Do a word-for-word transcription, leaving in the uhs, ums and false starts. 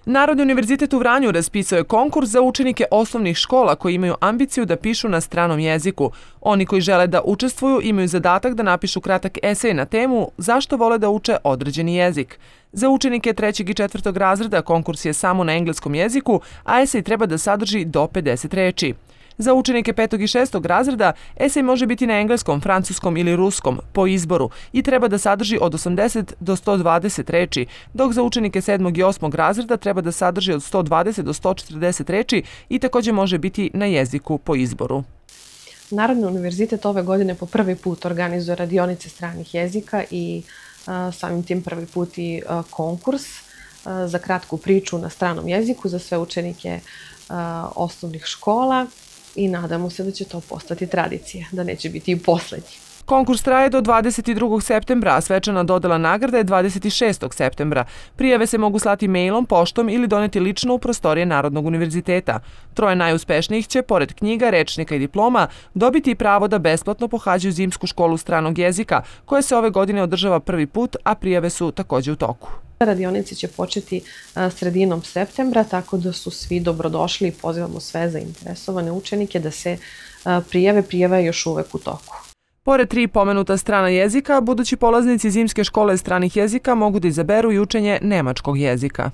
Narodni univerzitet u Vranju raspisao je konkurs za učenike osnovnih škola koji imaju ambiciju da pišu na stranom jeziku. Oni koji žele da učestvuju imaju zadatak da napišu kratak esej na temu zašto vole da uče određeni jezik. Za učenike trećeg i četvrtog razreda konkurs je samo na engleskom jeziku, a esej treba da sadrži do pedeset reči. Za učenike petog i šestog razreda esej može biti na engleskom, francuskom ili ruskom po izboru i treba da sadrži od osamdeset do sto dvadeset reči, dok za učenike sedmog i osmog razreda treba da sadrži od sto dvadeset do sto četrdeset reči i također može biti na jeziku po izboru. Narodni univerzitet ove godine po prvi put organizuje radionice stranih jezika i a, samim tim prvi put i a, konkurs a, za kratku priču na stranom jeziku za sve učenike a, osnovnih škola. I nadamo se da će to postati tradicija, da neće biti i poslednji. Konkurs traje do dvadeset drugog septembra, a svečana dodela nagrada je dvadeset šestog septembra. Prijave se mogu slati mailom, poštom ili doneti lično u prostorije Narodnog univerziteta. Troje najuspešnijih će, pored knjiga, rečnika i diploma, dobiti i pravo da besplatno pohađaju zimsku školu stranog jezika, koja se ove godine održava prvi put, a prijave su također u toku. Radionice će početi sredinom septembra, tako da su svi dobrodošli i pozivamo sve zainteresovane učenike da se prijave. Prijava je još uvek u toku. Pored tri pomenuta strana jezika, budući polaznici zimske škole stranih jezika mogu da izaberu i učenje nemačkog jezika.